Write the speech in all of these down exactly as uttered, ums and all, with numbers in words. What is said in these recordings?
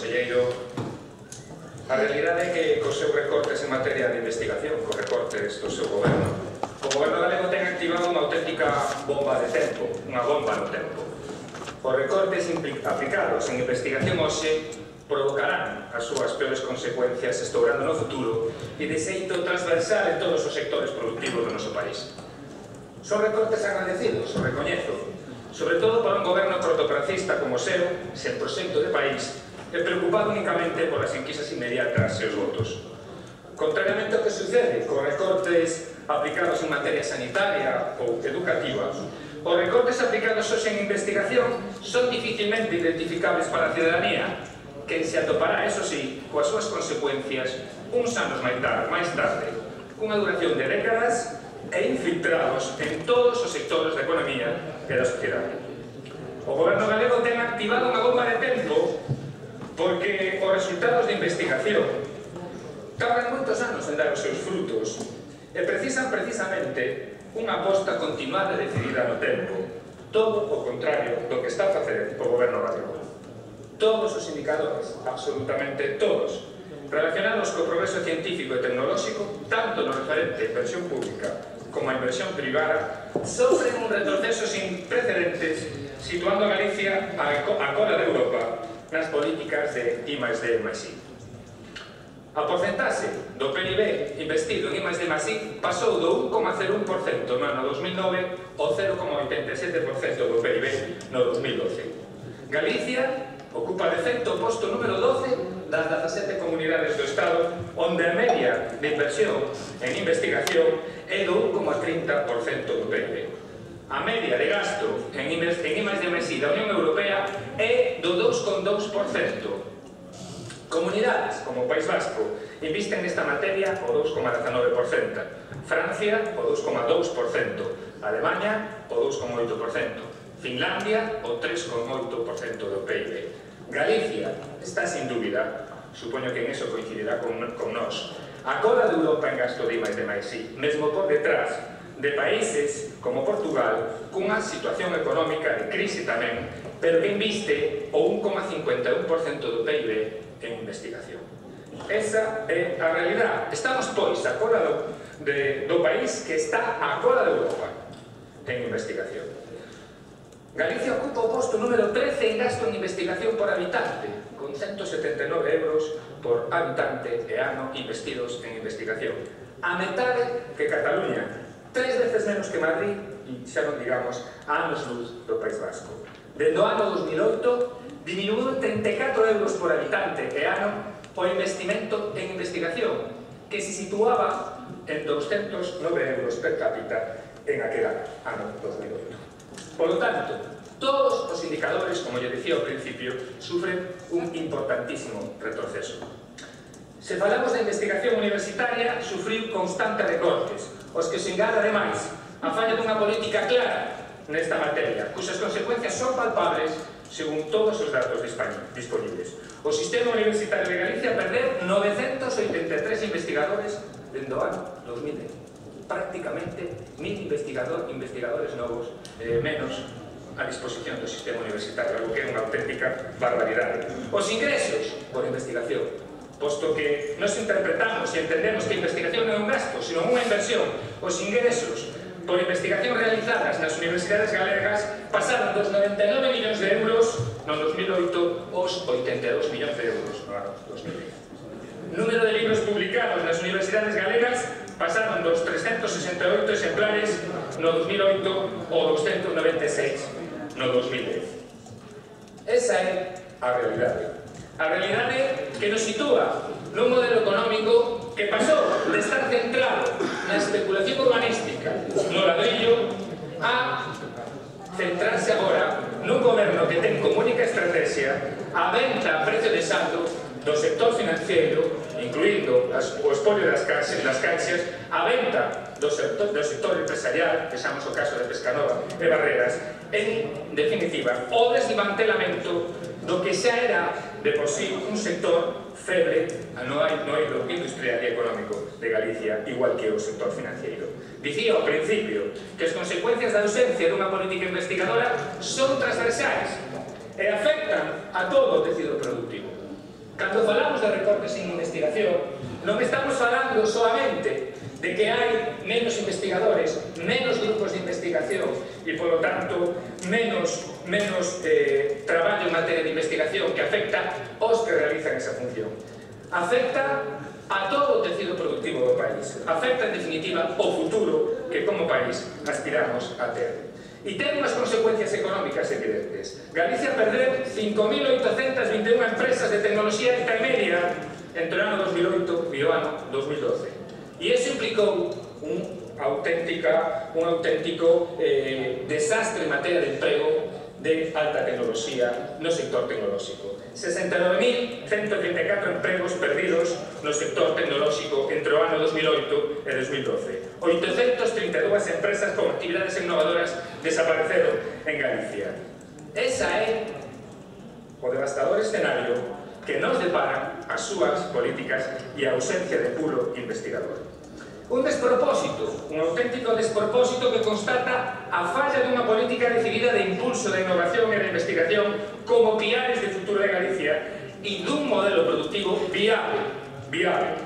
conselleiro, a realidade é que cos seus recortes en materia de investigación, cos recortes do seu goberno, o goberno galego ten activado unha auténtica bomba de tempo, unha bomba no tempo. Os recortes aplicados en investigación hoxe provocarán as súas peores consecuencias estourando no futuro e de xeito transversal en todos os sectores productivos do noso país. Son recortes agradecidos, o recoñezo, sobre todo para un goberno cortoplacista como o seu, sen proxecto de país, e preocupado únicamente polas enquisas inmediatas e os votos. Contrariamente ao que sucede con recortes aplicados en materia sanitaria ou educativa, os recortes aplicados hoxe en investigación son dificilmente identificables para a ciudadanía, que se atopará, eso sí, coas súas consecuencias uns anos máis tarde, cunha duración de décadas e infiltrados en todos os sectores da economía e da sociedade. O goberno galego ten activado unha bomba de tempo porque os resultados de investigación tardan moitos anos en dar os seus frutos e precisan precisamente unha aposta continuada e decidida no tempo, todo o contrario do que está a facer o goberno galego. Todos os indicadores, absolutamente todos, relacionados co progreso científico e tecnolóxico, tanto no referente a inversión pública como a inversión privada, sofren un retroceso sin precedentes, situando a Galicia a cola de Europa nas políticas de I máis D máis I. A porcentaxe do P I B investido en I máis D máis I pasou do un coma cero un por cento no ano dos mil nove ao cero coma oitenta e sete por cento do P I B no dos mil doce. Galicia ocupa de feito o posto número doce das dezasete comunidades do Estado, onde a media de inversión en investigación é do un coma trinta por cento do P I B. A media de gasto en I máis D máis I da Unión Europea é do dous coma dous por cento. Comunidades como o País Vasco invisten nesta materia o dous coma dezenove por cento, Francia o dous coma dous por cento, Alemanha o dous coma oito por cento, Finlandia o tres coma oito por cento do P I B. Galicia está, sin dúbida, supoño que en eso coincidirá con, con nós, a cola de Europa en gasto de I máis D máis I, mesmo por detrás de países como Portugal, cunha situación económica de crise tamén, pero que inviste o un coma cincuenta e un por cento do P I B en investigación. Esa é a realidade. Estamos, pois, a cola do, de, do país que está a cola de Europa en investigación. Galicia ocupa o posto número trece en gasto en investigación por habitante, con ciento setenta e nove euros por habitante e ano investidos en investigación. A metade que Cataluña, tres veces menos que Madrid, e xa non digamos a anos luz do País Vasco. Dende o ano dos mil oito, diminuiu trinta e catro euros por habitante e ano o investimento en investigación, que se situaba en doscientos nove euros per cápita en aquel ano dos mil oito. Por lo tanto, todos os indicadores, como lle dicía ao principio, sufren un importantísimo retroceso. Se falamos de investigación universitaria, sufriu constantes recortes, os que se engada, ademais, a falla dunha política clara nesta materia, cuxas consecuencias son palpables según todos os datos disponibles. O sistema universitario de Galicia perdeu novecentos oitenta e tres investigadores dende o ano dos mil dez. Prácticamente mil investigador, investigadores novos eh, menos a disposición do sistema universitario, algo que é unha auténtica barbaridade. Os ingresos por investigación, posto que nos interpretamos e entendemos que a investigación non é un gasto, sino unha inversión, os ingresos por investigación realizadas nas universidades galegas pasaron dos noventa e nove millóns de euros no dos mil oito aos oitenta e dous millóns de euros no ano dos mil dez. Número de libros publicados nas universidades galegas pasaron dos trescentos sesenta e oito exemplares no dos mil oito ao doscientos noventa e seis no dos mil dez. Esa é a realidade. A realidade que nos sitúa nun modelo económico que pasou de estar centrado na especulación urbanística no ladrillo a centrarse agora nun goberno que ten como única estrategia a venta a precio de saldo do sector financiero, incluindo as, o espolio das caixas, das caixas, a venta do sector, do sector empresarial, que xamos o caso de Pescanova e Barreras, en definitiva, o desmantelamento do que xa era de por sí un sector feble no eido industrial e económico de Galicia, igual que o sector financiero. Dicía ao principio que as consecuencias da ausencia dunha política investigadora son transversais e afectan a todo o tecido productivo. Cando falamos de recortes en investigación, non estamos falando solamente de que hai menos investigadores, menos grupos de investigación e, polo tanto, menos, menos eh, traballo en materia de investigación que afecta aos que realizan esa función. Afecta a todo o tecido productivo do país. Afecta, en definitiva, o futuro que como país aspiramos a ter. E ten unhas consecuencias económicas evidentes. Galicia perdeu cinco mil oitocentas vinte e unha empresas de tecnoloxía intermedia entre o ano dos mil oito e o ano dos mil doce. E iso implicou un, auténtica, un auténtico eh, desastre en materia de emprego de alta tecnoloxía no sector tecnolóxico. sesenta e nove mil ciento trinta e catro empregos perdidos no sector tecnolóxico entre o ano dos mil oito e dos mil doce. oitocentas trinta e dúas empresas con actividades innovadoras desapareceron en Galicia. Esa é o devastador escenario que nos deparan as súas políticas e a ausencia de puro investigador. Un despropósito, un auténtico despropósito que constata a falla dunha política decidida de impulso da innovación e da investigación como piares de futuro de Galicia e dun modelo productivo viable, viable.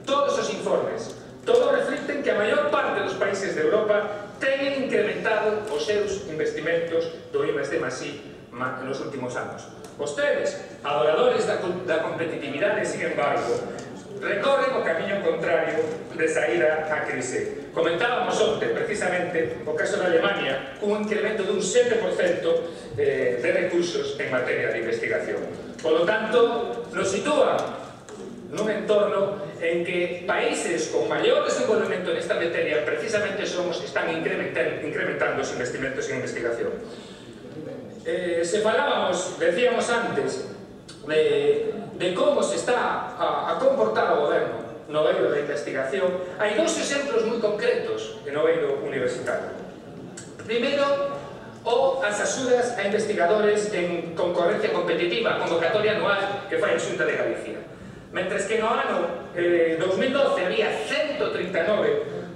Todos os informes, todos reflicten que a maior parte dos países de Europa teñen incrementado os seus investimentos do I más D más I nos últimos anos. Vostedes, adoradores da, da competitividade, sin embargo, recorren o camiño contrario de saída á crise. Comentábamos onte, precisamente, o caso de Alemania, cun incremento dun sete por cento eh, de recursos en materia de investigación. Por lo tanto, nos sitúa nun entorno en que países con maior desenvolvemento nesta materia precisamente son os que están incrementando, incrementando os investimentos en investigación. Eh, se falábamos, decíamos antes, de, de como se está a, a comportar o goberno no eido da investigación, hai dous exemplos moi concretos no eido universitario. Primeiro, o as axudas a investigadores en concorrencia competitiva, convocatoria anual que fai a Xunta de Galicia. Mentres que no ano eh, dos mil doce había ciento trinta e nove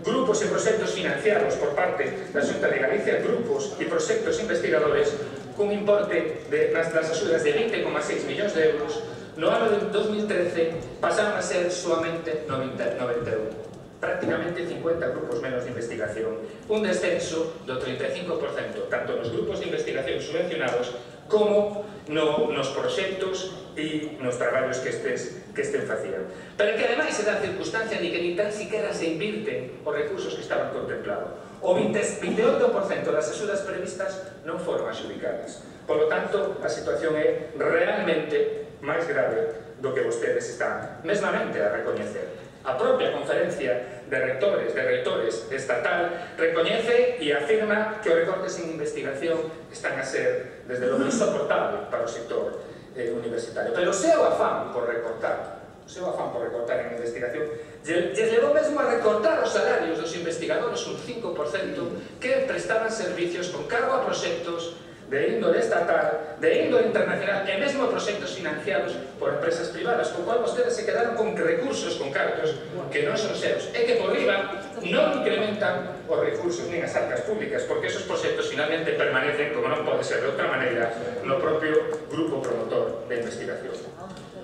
grupos e proxectos financiados por parte da Xunta de Galicia, grupos e proxectos investigadores cun importe de, nas, das axudas de vinte coma seis millóns de euros, no ano de dos mil trece pasaron a ser solamente noventa e un, prácticamente cincuenta grupos menos de investigación, un descenso do trinta e cinco por cento, tanto nos grupos de investigación subvencionados como no, nos proxectos e nos traballos que estes, que estén facían. Pero que ademais se dá a circunstancia de que ni tan siquiera se invirten os recursos que estaban contemplados. O veinte e oito por cento das axudas previstas non foron adxudicadas. Por lo tanto, a situación é realmente máis grave do que vostedes están mesmamente a recoñecer. A propia conferencia de rectores, de reitores estatal, recoñece e afirma que os recortes en investigación están a ser, desde logo, insoportable para o sector eh, universitario. Pero o seu afán por recortar, o seu afán por recortar en investigación, lles levou mesmo a recortar os salarios dos investigadores un cinco por cento que prestaban servicios con cargo a proxectos de índole estatal, de índole internacional e mesmo proxectos financiados por empresas privadas, con cual vostedes se quedaron con recursos, con cartos que non son seus, e que por riba non incrementan os recursos nin as arcas públicas, porque esos proxectos finalmente permanecen, como non pode ser de outra maneira, no propio grupo promotor de investigación.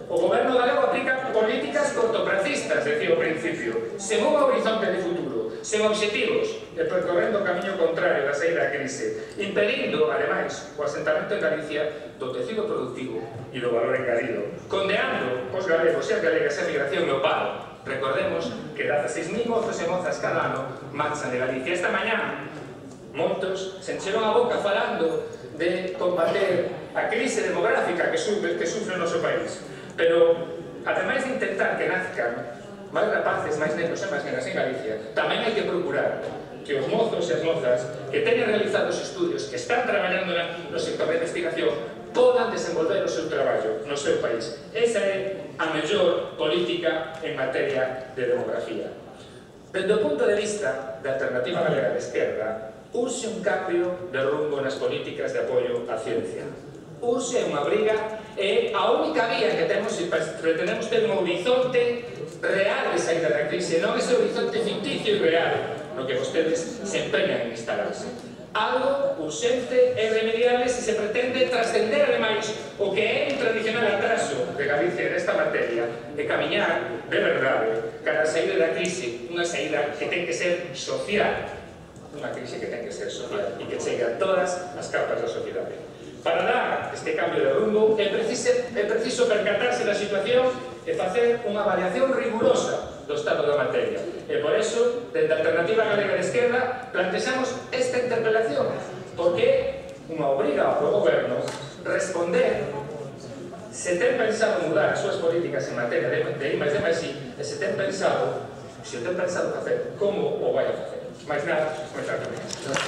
O goberno galego aplica políticas cortopracistas, decía ao principio, sen un horizonte de futuro, sen obxectivos, e percorrendo o camiño contrario da saída da crise, impedindo, ademais, o asentamento en Galicia do tecido productivo e do valor engadido, condeando os galegos e as galegas a migración e o paro. Recordemos que dezaseis mil mozos e mozas cada ano marchan de Galicia. Esta mañá, moitos se encheron a boca falando de combater a crise demográfica que sufre, que sufre o noso país. Pero, ademais de intentar que nazcan máis rapaces, máis negros e máis nenas en Galicia, tamén hai que procurar que os mozos e as mozas que teñen realizados estudios, que están traballando no sector de investigación, podan desenvolver o seu traballo no seu país. Esa é a mellor política en materia de demografía. Desde o punto de vista da Alternativa Galega de Esquerda, urxe un cambio de rumbo nas políticas de apoio á ciencia. Urxe unha briga e a única vía que temos se pretendemos ter un horizonte real de saída da crise, non ese horizonte ficticio e real no que vostedes se empeñan en instalarse. Algo urxente e irremediable se se pretende trascender ademais o que é un tradicional atraso de Galicia nesta materia materia e camiñar, de verdade, cara a saída da crise, unha saída que ten que ser social, unha crise que ten que ser social e que chegue a todas as capas da sociedade. Para dar este cambio de rumbo é preciso, é preciso percatarse da situación e facer unha avaliación rigurosa do estado da materia. E por eso, dende a Alternativa Galega de Esquerda, plantexamos esta interpelación, porque unha obriga ao goberno responder se ten pensado mudar as súas políticas en materia de, de I máis D máis I e se ten pensado, se o ten pensado facer, como o vai a facer. Mais nada, moitas gracias.